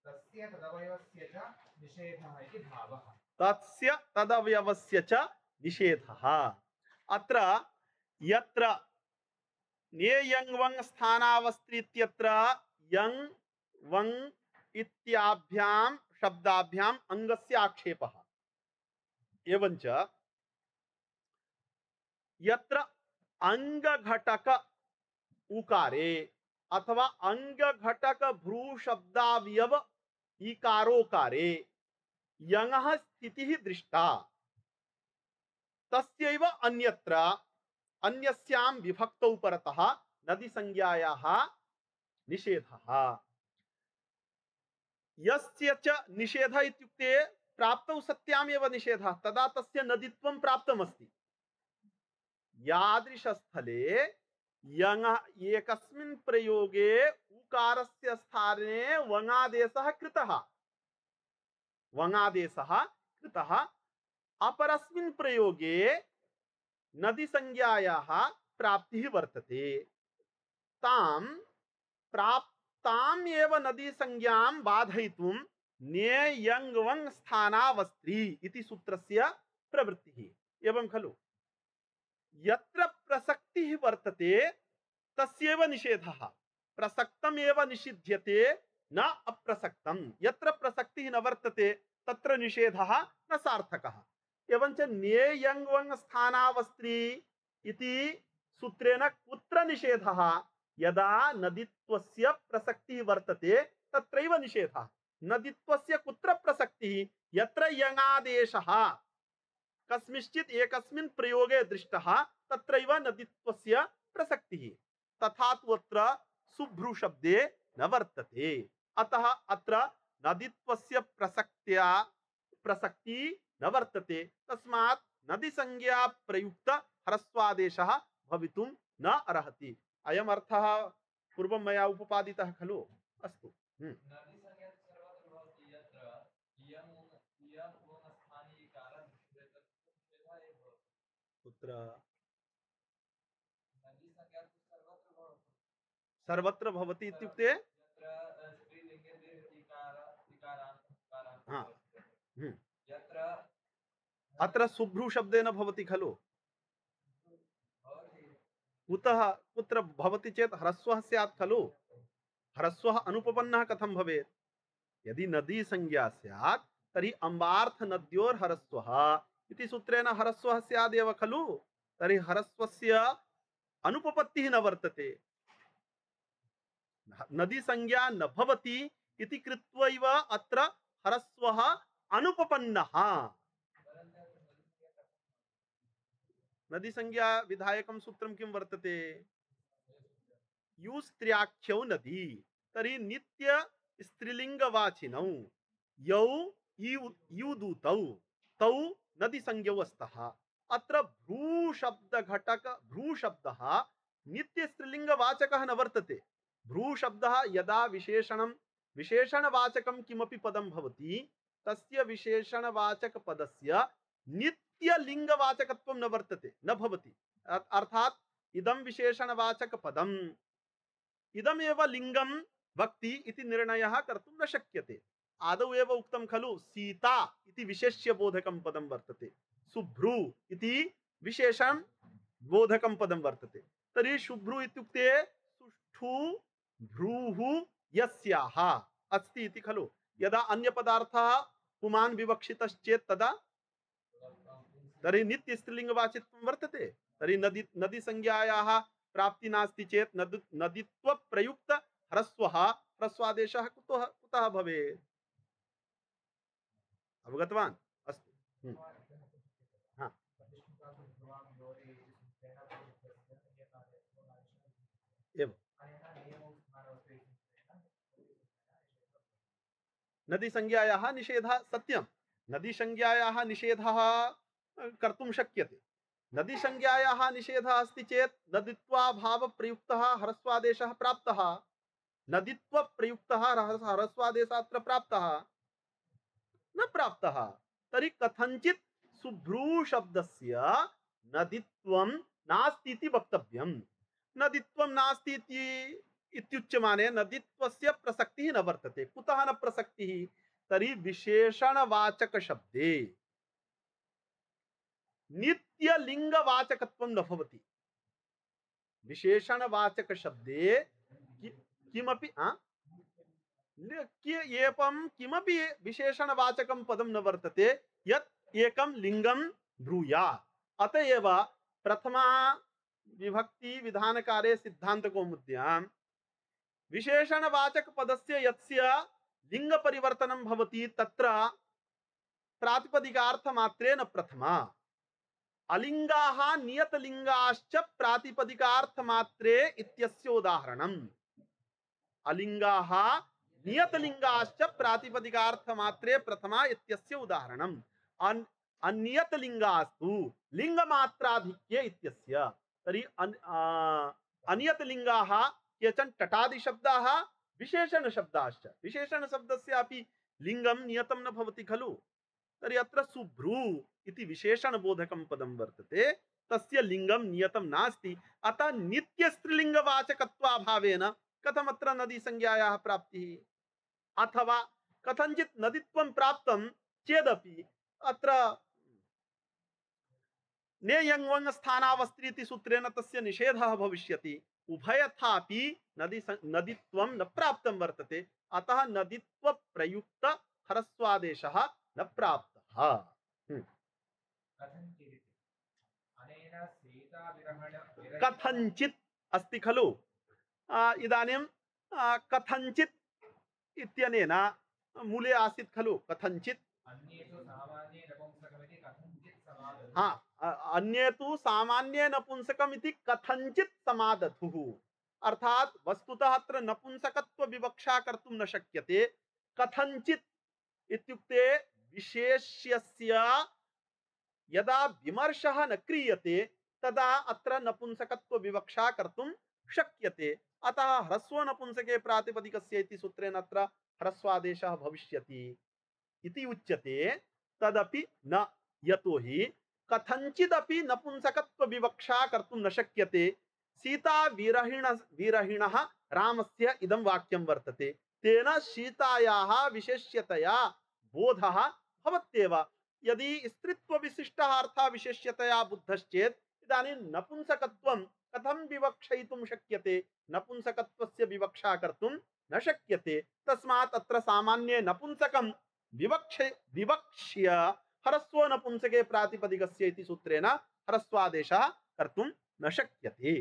तस्य तदवयवस्य च निषेधः इति भावः। तस्य तदवयवस्य च निषेधः। अत्र यत्र ने यङ् वङ् स्थानावस्त्रि इत्यत्र यङ् वङ् इत्याभ्यां शब्दाभ्याम् अङ्गस्य आक्षेपः। एवञ्च यत्र अङ्गघटक उकारे अथवा अङ्गघटक भ्रू शब्दावयव इकारोकारे यङः स्थितिः दृष्टा तस्यैव अन्यत्र अन्यस्यां विभक्तौ परतः नदीसंज्ञायाः निषेधः। यस्य च निषेधः इत्युक्ते प्राप्तौ सत्यामेव निषेधः, तदा तस्य नदीत्वं प्राप्तमस्ति। यादृशस्थले यङ एकस्मिन् प्रयोगे उकारस्य स्थाने वङादेशः कृतः वङादेशः कृतः अपरस्मिन् प्रयोगे नदीसंज्ञायाः प्राप्तिः वर्तते तां प्राप्ताम् एव नदीसंज्ञां बाधयितुं ने यङ् वङ् स्थानावस्त्री इति सूत्रस्य प्रवृत्तिः एवं खलु यत्र प्रसक्तिः वर्तते तस्यैव निषेधः प्रसक्तम् एव निषिध्यते न अप्रसक्तं यत्र प्रसक्तिः न वर्तते तत्र निषेधः न सार्थकः एवञ्च ने यङ् वङ् स्थानावस्त्री इति सूत्रेण कुत्र निषेधः यदा नदीत्वस्य प्रसक्तिः वर्तते तत्रैव निषेधः नदीत्वस्य कुत्र प्रसक्तिः यत्र यङादेशः कस्मिंश्चित् एकस्मिन् प्रयोगे दृष्टः तत्रैव नदीत्वस्य प्रसक्तिः तथा तु अत्र शुभ्रू शब्दे न वर्तते अतः अत्र नदीत्वस्य प्रसक्त्या प्रसक्ति न वर्तते तस्मात् नदीसंज्ञा प्रयुक्त ह्रस्वादेशः भवितुं न अर्हति अयम् अर्थः पूर्वं मया उपपादितः खलु अस्तु हम्म। कुत्र सर्वत्र भवति इत्युक्ते हाँ हम्म। अत्र शुभ्रू शब्देन भवति खलु कुतः कुत्र भवति चेत् ह्रस्वः स्यात् खलु ह्रस्वः अनुपपन्नः कथं भवेत् यदि नदी संज्ञा स्यात् तर्हि अम्बार्थ नद्योर् ह्रस्वः इति सूत्रेण ह्रस्वः स्यादेव खलु तर्हि ह्रस्वस्य अनुपपत्तिः न वर्तते नदी संज्ञा न भवति इति कृत्वैव अत्र ह्रस्वः अनुपपन्नः नदी संज्ञा विधायकं सूत्रं किं वर्तते युस्त्र्याख्यौ नदी तर्हि नित्य स्त्रीलिंगवाचिनौ यौ युदूतौ तौ नदी संज्ञौ स्तः अत्र भ्रू शब्द घटक भ्रू शब्दः नित्य स्त्रीलिंगवाचकः न वर्तते भ्रू शब्दः यदा विशेषणं विशेषणवाचकं किमपि पदं भवति तस्य विशेषणवाचक पदस्य नित्य लिंगवाचकत्वं न वर्तते न भवति अर्थात इदं विशेषणवाचक पदम् इदमेव लिंगं वक्ति इति निर्णयः कर्तुं न शक्यते आदौ एव उक्तं खलु सीता इति विशेष्य बोधकं पदं वर्तते शुभ्रू इति विशेषण बोधकं पदं वर्तते तर्हि शुभ्रू इत्युक्ते सुष्ठु भ्रूः यस्याः अस्ति इति खलु यदा अन्य पदार्थः पुमान् विवक्षितश्चेत् तदा तर्हि नित्य स्त्रीलिंगवाचित्वं वर्तते तर्हि नदी नदी संज्ञायाः प्राप्ति नास्ति चेत् नद नदीत्व प्रयुक्त ह्रस्वः ह्रस्वादेशः कुतः कुतः भवेत् अवगतवान् अस्तु हाँ एवं नदी संज्ञायाः निषेधः सत्यं नदी संज्ञायाः निषेधः कर्तुं शक्यते नदी संज्ञायाः निषेधः अस्ति चेत् नदीत्वाभाव प्रयुक्तः ह्रस्वादेशः प्राप्तः नदीत्व प्रयुक्तः ह्रस्वादेशः अत्र प्राप्तः न प्राप्तः तर्हि कथंचित् शुभ्रू शब्दस्य नदीत्वं नास्ति इति वक्तव्यं नदीत्वं नास्ति इति इत्युच्यमाने नदीत्वस्य प्रसक्तिः न वर्तते कुतः न प्रसक्तिः तर्हि विशेषणवाचक शब्दे नित्य लिंगवाचकत्वं न भवति विशेषणवाचक शब्दे कि, किमपि आ एवं किमपि विशेषणवाचकं पदं न वर्तते यत् एकं लिंगं ब्रूयात् अतएव प्रथमा विभक्ति विधानकारे सिद्धान्तकौमुद्यां विशेषणवाचक पदस्य यस्य लिंग परिवर्तनं भवति तत्र प्रातिपदिकार्थमात्रे न प्रथमा अलिंगाः नियतलिंगाश्च प्रातिपदिकार्थमात्रे इत्यस्य उदाहरणम् अलिंगाः नियतलिंगाश्च प्रातिपदिकार्थमात्रे प्रथमा इत्यस्य उदाहरणम् अन्यत लिंगास्तु लिंगमात्राधिक्ये इत्यस्य। तर्हि अन् आ, अन्यत लिंगाः केचन टटादि शब्दाः विशेषण शब्दाश्च। विशेषण शब्दस्यापि लिंगं नियतं न भवति खलु। तर्हि अत्र सुभ्रू इति विशेषण बोधकं पदं वर्तते, तस्य लिंगं नियतं नास्ति। अतः नित्य स्त्रीलिंगवाचकत्वाभावेन कथमत्र नदी संज्ञायाः प्राप्तिः। अथवा कथंचित् नदीत्वं प्राप्तं चेदपि अत्र नेयंवंग स्थानावस्थिति सूत्रेण तस्य निषेधः भविष्यति। उभयथापि नदी नदीत्वं न प्राप्तं वर्तते, अतः नदीत्व प्रयुक्त ह्रस्वादेशः न प्राप्तः। हम्म। कथंचित् अस्ति खलु। आ, इदानीं आ, कथंचित् इत्यनेन मूले आसीत् खलु कथंचित्। हाँ, अन्ये तु सामान्ये नपुंसकमिति कथंचित् समादधुः। अर्थात वस्तुतः अत्र नपुंसकत्व विवक्षा कर्तुं न शक्यते। कथंचित् इत्युक्ते विशेष्यस्य यदा विमर्शः न क्रियते तदा अत्र नपुंसकत्व विवक्षा कर्तुं शक्यते। अतः ह्रस्व नपुंसके प्रातिपदिकस्य इति सूत्रेण अत्र ह्रस्वादेशः भविष्यति इति उच्यते। तदपि न, यतोहि कथंचिदपि नपुंसकत्व विवक्षा कर्तुं न शक्यते। सीता विरहिण विरहिणः रामस्य इदं वाक्यं वर्तते। तेन सीतायाः विशेष्यतया बोधः भवत्येव। यदि स्त्रीत्व विशिष्टः अर्थः विशेष्यतया बुद्धश्चेत् इदानीं नपुंसकत्वं कथं विवक्षयितुं शक्यते। नपुंसकत्वस्य विवक्षा कर्तुं न शक्यते। तस्मात् अत्र सामान्ये नपुंसकं विवक्ष विवक्ष्य ह्रस्व नपुंसके प्रातिपदिकस्य इति सूत्रेण ह्रस्वादेशः कर्तुं न शक्यते।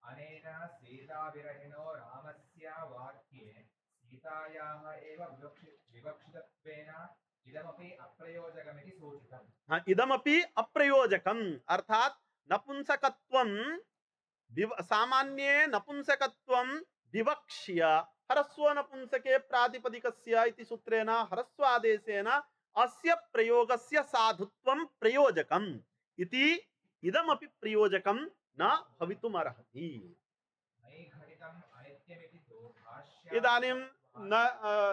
अनेन सीताविरहिणो रामस्य वाक्ये सीतायाः एव विवक्षितत्वेन इदमपि अप्रयोजकमिति सूचितम्। हाँ, इदमपि अप्रयोजकम् अर्थात नपुंसकत्वं सामान्ये नपुंसकत्वं विवक्ष्य ह्रस्व नपुंसके प्रातिपदिकस्य इति सूत्रेण ह्रस्वादेशेन अस्य प्रयोगस्य साधुत्वं प्रयोजकम् इति इदमपि प्रयोजकं न भवितुमर्हति। इदानीं न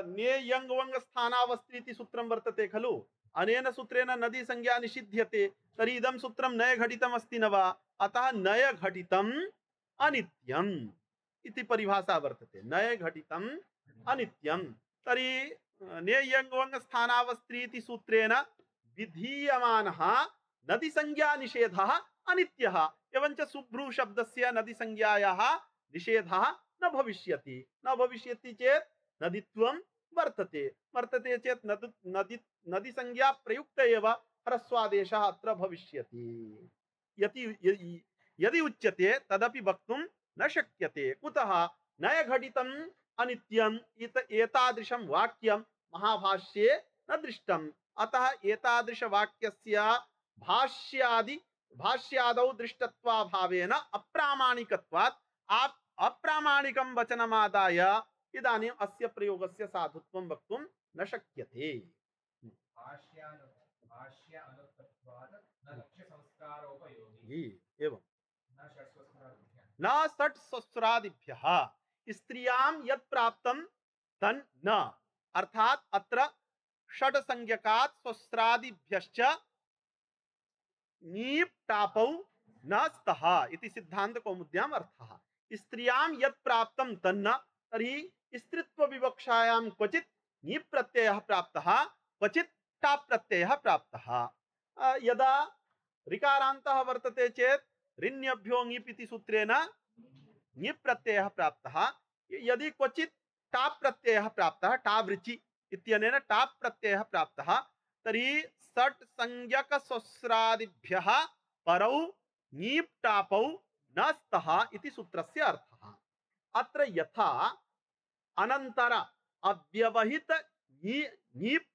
नेयंगवंग स्थानावस्थिति इति सूत्रं वर्तते खलु। अनेन सूत्रेण नदी संज्ञा निषिध्यते। तर्हि इदं सूत्रं नय घटितम् अस्ति न वा। अतः नय घटितम् अनित्यम् इति परिभाषा वर्तते। नय घटितम् अनित्यम्। तर्हि नेयंगवंग स्थानावस्थिति इति सूत्रेण विधीयमानः नदी संज्ञा निषेधः अनित्यः। एवञ्च सुभ्रू शब्दस्य नदी संज्ञायाः निषेधः न भविष्यति। न भविष्यति चेत् नदीत्वं वर्तते। वर्तते चेत् नदी नदी नदी संज्ञा प्रयुक्त एव ह्रस्वादेशः अत्र भविष्यति। यदि यदि उच्यते तदपि वक्तुं न शक्यते। कुतः नय घटितम् अनित्यम् इत एतादृशं वाक्यं महाभाष्ये न दृष्टम्। अतः एतादृश वाक्यस्य भाष्यादि भाष्यादौ दृष्टत्वाभावेन अप्रामाणिकत्वात् आप अप्रामाणिकं वचनमादाय इदानीम् अस्य प्रयोगस्य साधुत्वं वक्तुं न शक्यते। एवं न षट् स्वस्रादिभ्यः स्त्रियां यत् प्राप्तं तन् न। अर्थात अत्र षड् संज्ञकात् स्वस्रादिभ्यश्च नीप् टापौ न स्तः इति सिद्धांत कौमुद्याम् अर्थः। स्त्रियां यत् प्राप्तं तन्न। तर्हि स्त्रीत्व विवक्षायां क्वचित् नीप् प्रत्ययः प्राप्तः, क्वचित् टाप् प्रत्ययः प्राप्तः। यदा ऋकारान्तः वर्तते चेत् ऋण्यभ्यो ङीप् इति सूत्रेण ङीप् प्रत्ययः प्राप्तः। यदि क्वचित् टाप् प्रत्ययः प्राप्तः, टावृचि इत्यनेन टाप् प्रत्ययः प्राप्तः, तर्हि षट् संज्ञक स्वस्रादिभ्यः परौ ङीप् टापौ न स्तः इति सूत्रस्य अर्थः। अत्र यथा अनन्तर अव्यवहित ङीप्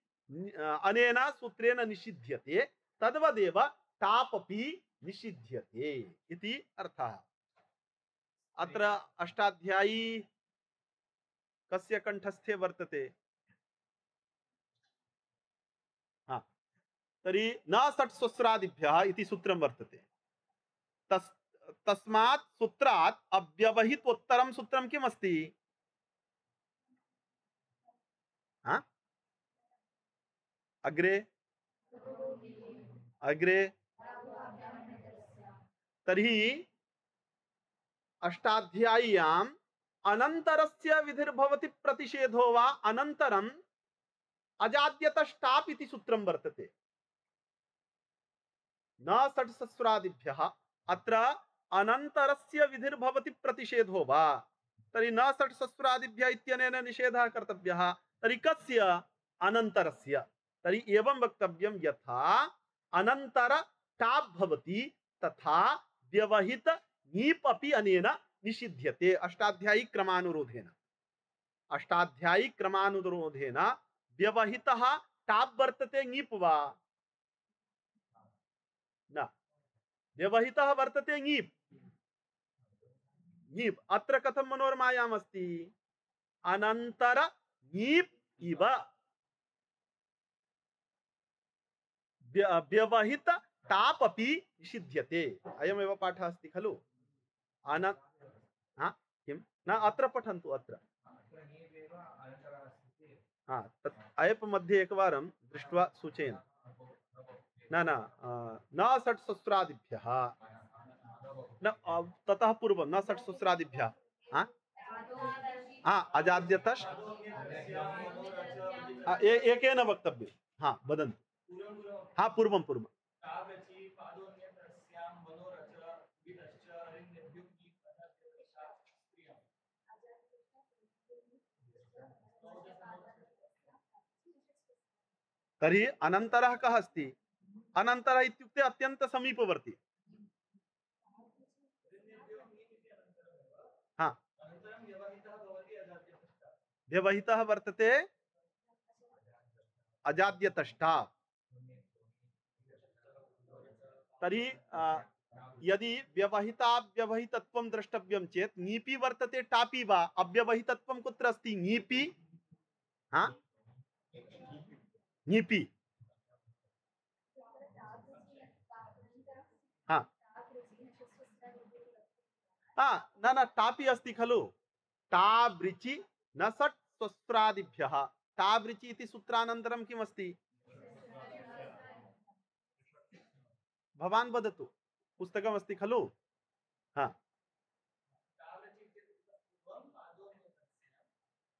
अनेन सूत्रेण निषिध्यते तद्वदेव टाप् अपि निषिध्यते इति अर्थः। अत्र अष्टाध्यायी कस्य कंठस्थे वर्तते? हाँ, तर्हि न षट् स्वस्रादिभ्यः इति सूत्रं वर्तते। तस् तस्मात् सूत्रात् अव्यवहितोत्तरं सूत्रं किमस्ति? हा? अग्रे अग्रे तर्हि अष्टाध्याय्याम् अनन्तरस्य विधिर्भवति प्रतिषेधो वा अनन्तरम् अजाद्यतष्टाप् इति सूत्रं वर्तते। न षट्सहस्रादिभ्यः अत्र अनन्तरस्य विधिर्भवति प्रतिषेधो वा, तर्हि न षट्सहस्रादिभ्यः इत्यनेन निषेधः कर्तव्यः। तर्हि कस्य? अनन्तरस्य। तर्हि एवं वक्तव्यं यथा अनन्तर टाप् भवति तथा व्यवहित नीप् अपि अनेन निषिध्यते अष्टाध्यायी क्रमानुरोधेन। अष्टाध्यायी क्रमानुरोधेन व्यवहितः टाप् वर्तते ङीप् वा न? व्यवहितः वर्तते ङीप् ङीप्। अत्र कथं मनोरमायाम् अस्ति? अनन्तर ङीप् इव व्यवहित टाप् अपि निषिध्यते। अयमेव पाठः अस्ति खलु? अन हा किं न अत्र पठन्तु। अत्र हा तत् अयप् मध्ये एकवारं दृष्ट्वा सूचयन्तु। न न न षट्सहस्रादिभ्यः न ततः पूर्वं न षट्सहस्रादिभ्यः हा हा अजाद्यतश् एकेन वक्तव्यं। हा वदन्तु। हा पूर्वं पूर्वं तर्हि अनन्तरः कः अस्ति? अनन्तरः इत्युक्ते अत्यन्त समीपवर्ती। हा व्यवहितः वर्तते अजाद्यतष्टा। तर्हि यदि व्यवहिताव्यवहितत्वं द्रष्टव्यं चेत् ङीपि वर्तते टापि वा? अव्यवहितत्वं कुत्र अस्ति? ङीपि हा ङीपि हा हा न न टापि अस्ति खलु? टाब्रिचि न षट् स्वस्रादिभ्यः। टाब्रिचि इति सूत्रानन्तरं किमस्ति? भवान् वदतु। पुस्तकमस्ति खलु? हा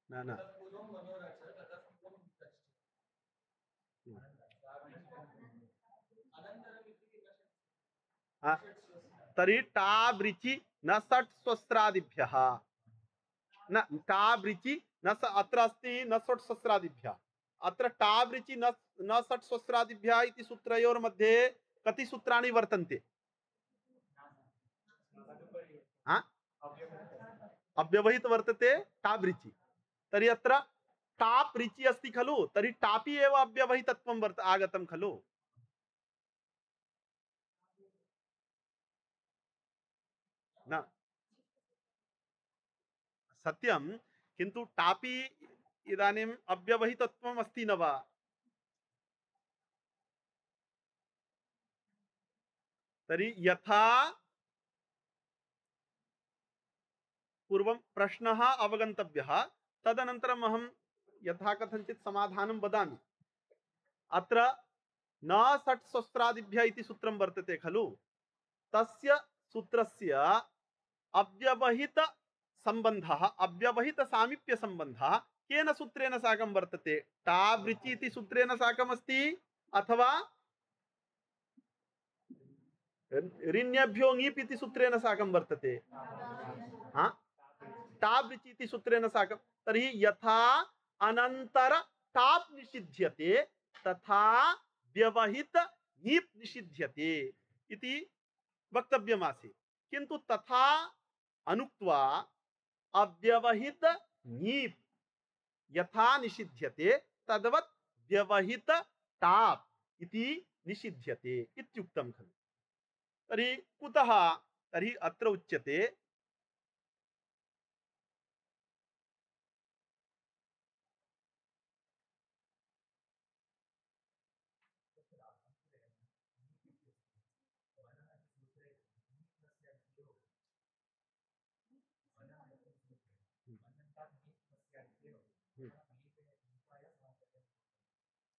न न हा तर्हि टाब्रिचि न षट् स्वस्रादिभ्यः न टाब्रिचि न स अत्र अस्ति न षट् स्वस्रादिभ्यः। अत्र टाब्रिचि न न षट् स्वस्रादिभ्यः इति सूत्रयोर्मध्ये कति सूत्राणि वर्तन्ते? हा अव्यवहित वर्तते टाब्रिचि। तर्हि अत्र टाप् रिचि अस्ति खलु? तर्हि टापि एव अव्यवहितत्वं वर्त आगतं खलु? न सत्यं, किन्तु टापि इदानीम् अव्यवहितत्वम् अस्ति न वा? तर्हि यथा पूर्वं प्रश्नः अवगन्तव्यः, तदनन्तरम् अहं यथा कथञ्चित् समाधानं वदामि। अत्र न षट् सहस्रादिभ्यः इति सूत्रं वर्तते खलु? तस्य सूत्रस्य अव्यवहित संबंधः अव्यवहित सामीप्य संबंधः केन सूत्रेण साकं वर्तते? टाब्रिचि इति सूत्रेण साकम् अस्ति अथवा ऋण्यभ्यो ङीप् इति सूत्रेण साकं वर्तते? हा टाब्रिचि इति सूत्रेण साकं। तर्हि यथा अनन्तर टाप् निषिध्यते तथा व्यवहित ङीप् निषिध्यते इति वक्तव्यमासीत्। किन्तु तथा अनुक्त्वा अव्यवहित ङीप् यथा निषिध्यते तद्वत् व्यवहित टाप् इति निषिध्यते इत्युक्तं खलु? तर्हि कुतः? तर्हि अत्र उच्यते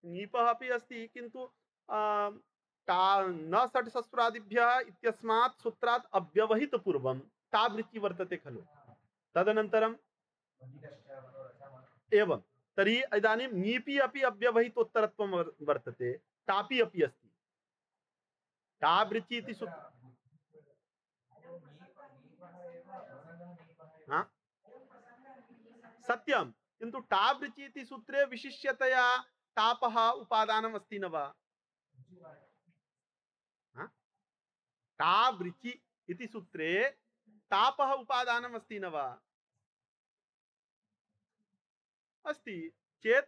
नीपः अपि अस्ति किन्तु आ, टा न षट् शस्त्रादिभ्यः इत्यस्मात् सूत्रात् अव्यवहितपूर्वं टावृत्ति वर्तते खलु। तदनन्तरं एवं तर्हि इदानीं नीपि अपि अव्यवहितोत्तरत्वं वर्- वर्तते, टापि अपि अस्ति। टावृत्ति इति सूत्र हाँ? सत्यं, किन्तु टावृत्ति इति सूत्रे विशिष्यतया तापः उपादानम् अस्ति न वा? हाँ? टावृत्ति इति सूत्रे तापः उपादानम् अस्ति न वा? अस्ति चेत्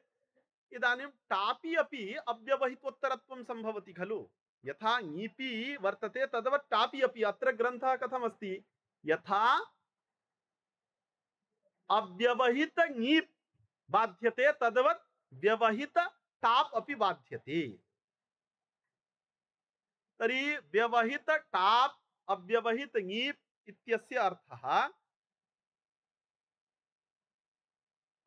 इदानीं टापि अपि अव्यवहितोत्तरत्वं सम्भवति खलु। यथा ङीपि वर्तते तद्वत् टापि अपि। अत्र ग्रन्थः कथमस्ति, यथा अव्यवहित ङीप् बाध्यते तद्वत् व्यवहित टाप् अपि बाध्यते। तर्हि व्यवहित टाप् अव्यवहित ङीप् इत्यस्य अर्थः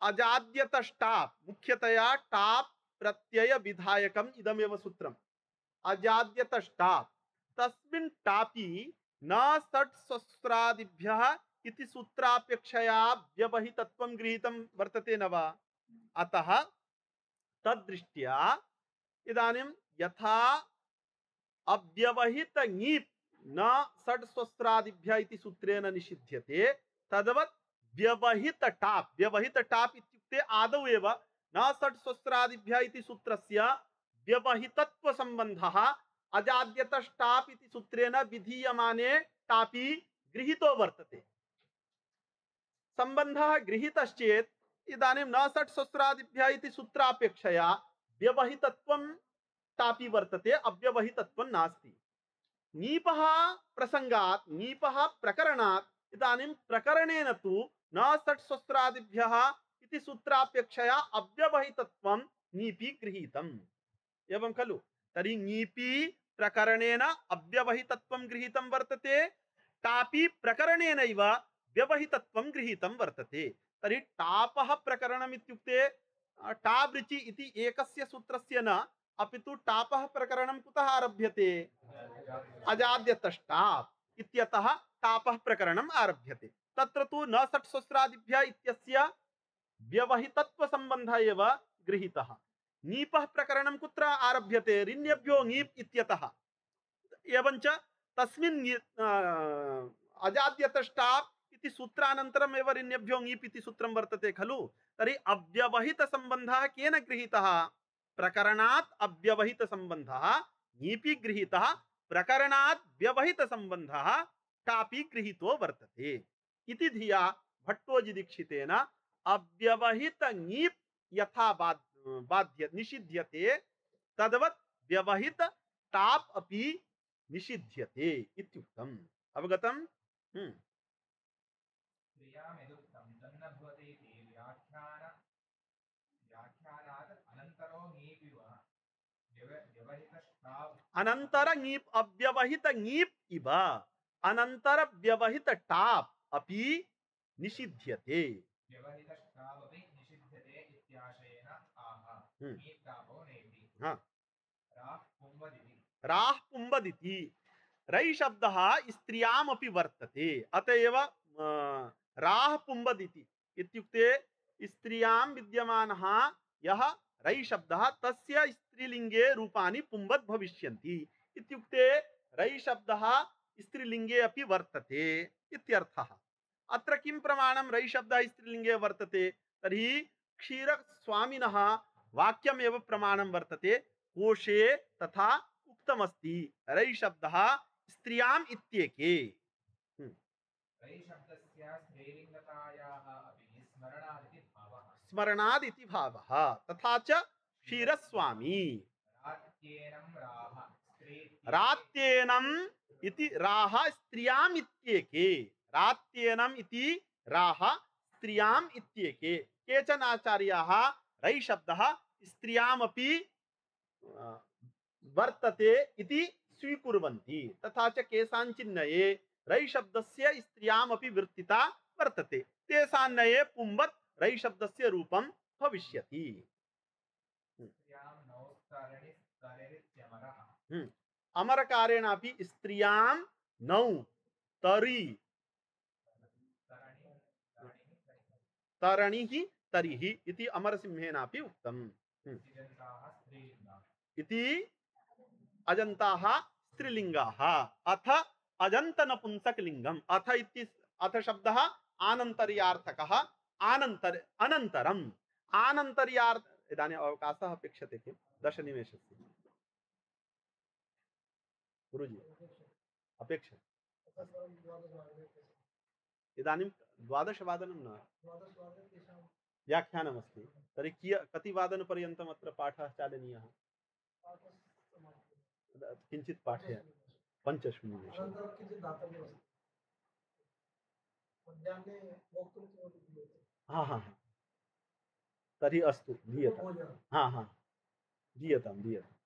अजाद्यतष्टाप्, मुख्यतया टाप् प्रत्यय विधायकम् इदमेव सूत्रम्। अजाद्यतष्टाप् तस्मिन् टापि न षट् शस्त्रादिभ्यः इति सूत्रापेक्षया व्यवहितत्वं गृहीतं वर्तते न वा? अतः तद्दृष्ट्या इदानीं यथा अव्यवहित ङीप् न षट् शस्त्रादिभ्यः इति सूत्रेण निषिध्यते तद्वत् व्यवहित टाप्, व्यवहित टाप् इत्युक्ते आदौ एव न षट् शस्त्रादिभ्यः इति सूत्रस्य व्यवहितत्व संबंधः अजाद्यतष्टाप् इति सूत्रेण विधीयमाने टापि गृहीतो वर्तते। संबंधः गृहीतश्चेत् इदानीं न षट् शस्त्रादिभ्यः इति सूत्रापेक्षया व्यवहितत्वं टापि वर्तते, अव्यवहितत्वं नास्ति। नीपः प्रसंगात्, नीपः प्रकरणात् इदानीं प्रकरणेन तु न षट् शस्त्रादिभ्यः इति सूत्रापेक्षया अव्यवहितत्वं नीपि गृहीतम्। एवं खलु। तर्हि नीपि प्रकरणेन अव्यवहितत्वं गृहीतं वर्तते, टापि प्रकरणेनैव व्यवहितत्वं गृहीतं वर्तते। तर्हि टापः प्रकरणम् इत्युक्ते टावृचि इति एकस्य सूत्रस्य न, अपितु टापः प्रकरणं कुतः आरभ्यते? अजाद्यतष्टाप् इत्यतः टापः प्रकरणम् आरभ्यते। तत्र तु न षट् शस्त्रादिभ्यः इत्यस्य व्यवहितत्व संबंधः एव गृहीतः। नीपः प्रकरणं कुत्र आरभ्यते? ऋण्यभ्यो ङीप् इत्यतः। एवञ्च तस्मिन् अजाद्यतष्टाप् इति सूत्रानन्तरम् एव ऋण्यभ्यो ङीप् इति सूत्रं वर्तते खलु। तर्हि अव्यवहित संबंधः केन गृहीतः? प्रकरणात् अव्यवहित संबंधः ङीपि गृहीतः, प्रकरणात् व्यवहित संबंधः टापि गृहीतो वर्तते इति धिया भट्टोजिदीक्षितेन अव्यवहित ङीप् यथा बाध्य निषिध्यते तद्वत् व्यवहित टाप् अपि निषिध्यते इत्युक्तम्। अवगतम्? हम्म। क्रियामेदुक्तं तन्न भवति इति व्याख्यान व्याख्यानात् अनन्तरो ङीपिव व्यवहितष्टाप् अनंतर ङीप् अव्यवहित ङीप् इव अनंतर व्यवहित टाप् अपि निषिध्यते। व्यवहितष्टाप् अपि निषिध्यते इत्याशयेन आह हम्म। ङीप् टापो नेति। हाँ। राः पुंवदिति। राः पुंवदिति रै शब्दः स्त्रियाम् अपि वर्तते, अतएव राः पुंवदिति इत्युक्ते स्त्रियां विद्यमानः यः रै शब्दः तस्य स्त्रीलिंगे रूपाणि पुंवद् भविष्यन्ति इत्युक्ते रै शब्दः स्त्रीलिंगे अपि वर्तते इत्यर्थः। अत्र किं प्रमाणं रै शब्दः स्त्रीलिंगे वर्तते? तर्हि क्षीरस्वामिनः वाक्यमेव प्रमाणं वर्तते। कोशे तथा उक्तमस्ति रै शब्दः स्त्रियाम् इत्येके। रै शब्दस्य स्त्रीलिङ्गतायाः अपि स्मरणादिति भावः। स्मरणादिति भावः। तथा च क्षीरस्वामी रात्येनं राः स्त्री रात्येनम् इति राः स्त्रियाम् इत्येके। रात्येनम् इति राः स्त्रियाम् इत्येके। केचन आचार्याः रै शब्दः स्त्रियामपि वर्तते इति स्वीकुर्वन्ति। तथा च केषाञ्चिन्नये रै शब्दस्य स्त्रियामपि वृत्तिता वर्तते। तेषान्नये पुंवत् रै शब्दस्य रूपं भविष्यति। स्त्रियां नौ स्तरणि स्तरेरित्यमरः हम्म, अमरकारेणापि स्त्रियां नौ तरि स्तरणि स्तरणिः स्तरिः तरणिः तरिः इति अमरसिंहेनापि उक्तम्। हम्म, इदन्ताः स्त्रीलिङ्गाः इति अजन्ताः स्त्रीलिङ्गाः। अथ अजन्तनपुंसकलिङ्गम्। अथ इति अथ शब्दः आनन्तर्यार्थकः। आनन्तर अनन्तरम् आनन्तर्यार्थ इदानीम् अवकाशः अपेक्षते किं दशनिमेषस्य गुरुजी अपेक्षते। इदानीं द्वादशवादनं न व्याख्यानमस्ति, तर्हि किय कति वादनपर्यन्तम् अत्र पाठः चालनीयः? किञ्चित् पाठय पञ्चषु निमेषु। हा हा हा तर्हि अस्तु दीयतां। हा हा दीयतां दीयताम्।